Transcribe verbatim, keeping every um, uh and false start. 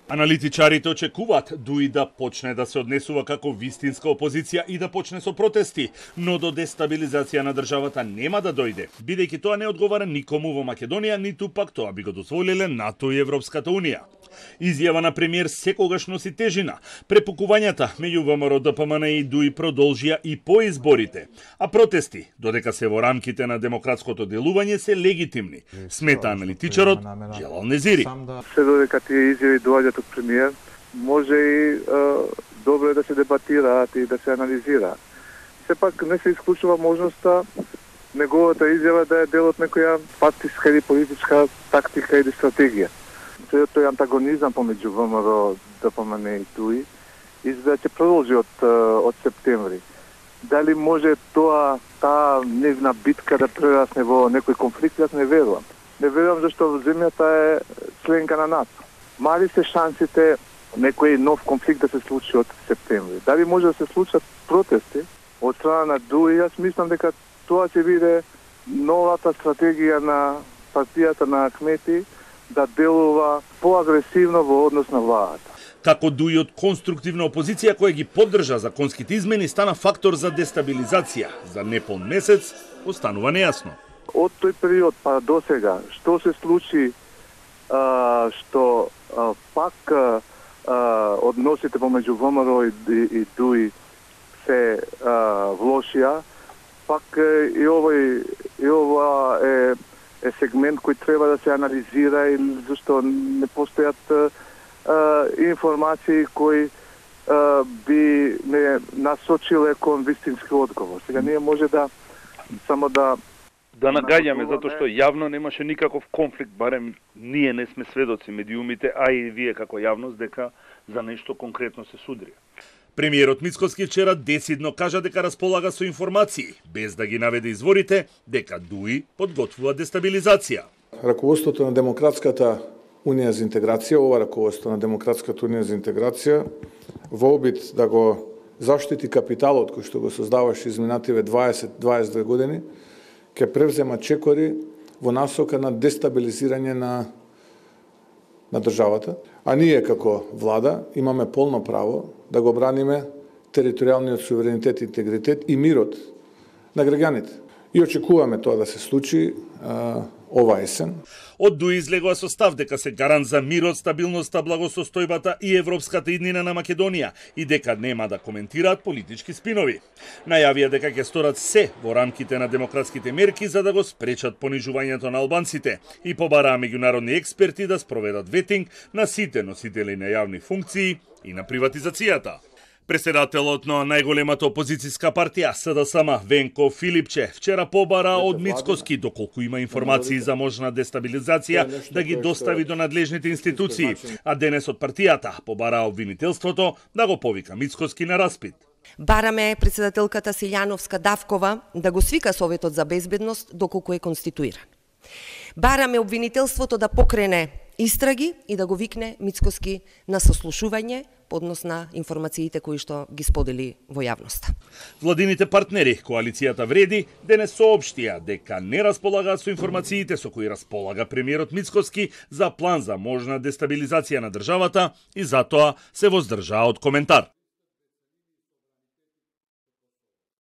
Аналитичарите очекуваат Дуи да почне да се однесува како вистинска опозиција и да почне со протести, но до дестабилизација на државата нема да дојде, бидејќи тоа не одговара никому во Македонија, ниту пак тоа би го дозволиле НАТО и Европската унија. Изјава на премиер секогаш носи тежина. Препукувањата меѓу ВМРО, ДПМН и Дуи продолжија и по изборите, а протести, додека се во рамките на демократското делување, се легитимни, смета аналитичарот Джелал Незири. Се додека тие изјави доаѓаат од премиер, може и е, добро е да се дебатираат и да се анализираат. Сепак не се исклучува можноста неговата изјава да е дел од некоја партиска или политичка тактика или стратегија. Тој антагонизам помеѓу ВМРО, ДПМН и Дуи изгледа ќе продолжи од, од септември. Дали може тоа, таа нивна битка да прерасне во некој конфликт, јас не верувам. Не верувам зашто земјата е членка на НАТО. Мали се шансите некој нов конфликт да се случи од септември. Дали може да се случат протести од страна на Дуи, јас мислам дека тоа ќе биде новата стратегија на партијата на Ахмети да делува поагресивно во однос на владата. Како Дуи од конструктивна опозиција која ги поддржа законските измени стана фактор за дестабилизација, за неполн месец останува нејасно. Од тој период па до сега, што се случи, а, што а, пак а, односите помеѓу ВМРО и, и, и Дуи се а, влошија, пак и овој и ова е е сегмент кој треба да се анализира и зашто не постојат а, информации кои а, би не насочиле кон вистински одговор. Сега ние може да само да да нагаѓаме затоа што јавно немаше никаков конфликт, барем ние не сме сведоци медиумите, а и вие како јавност дека за нешто конкретно се судрија. Премиерот Мицкоски вчера десидно кажа дека располага со информации, без да ги наведе изворите, дека Дуи подготвува дестабилизација. Раководството на Демократската унија за интеграција, ова раководство на Демократската унија за интеграција, во обид да го заштити капиталот кој што го создаваше изминативе дваесет до дваесет и две години, ќе превзема чекори во насока на дестабилизирање на на државата, а ние како влада имаме полно право да го браниме територијалниот суверенитет и интегритет и мирот на граѓаните. И очекуваме тоа да се случи а, ова есен. Од Дуи излегува со став дека се гарант за мирот, стабилноста, благосостојбата и европската иднина на Македонија и дека нема да коментираат политички спинови. Најавија дека ќе сторат се во рамките на демократските мерки за да го спречат понижувањето на албанците и побараа меѓународни експерти да спроведат ветинг на сите носители на јавни функции и на приватизацијата. Преседателот на најголемата опозицијска партија СДСМ Венко Филипче вчера побара од Мицкоски доколку има информации за можна дестабилизација да ги достави до надлежните институции, а денес од партијата побара обвинителството да го повика Мицкоски на распит. Бараме председателката Силјановска Давкова да го свика Советот за безбедност доколку е конституиран. Бараме обвинителството да покрене истраги и да го викне Мицкоски на сослушување по однос на информациите кои што ги сподели во јавноста. Владините партнери, коалицијата Вреди, денес соопштија дека не располагаат со информациите со кои располага премиерот Мицкоски за план за можна дестабилизација на државата и затоа се воздржаа од коментар.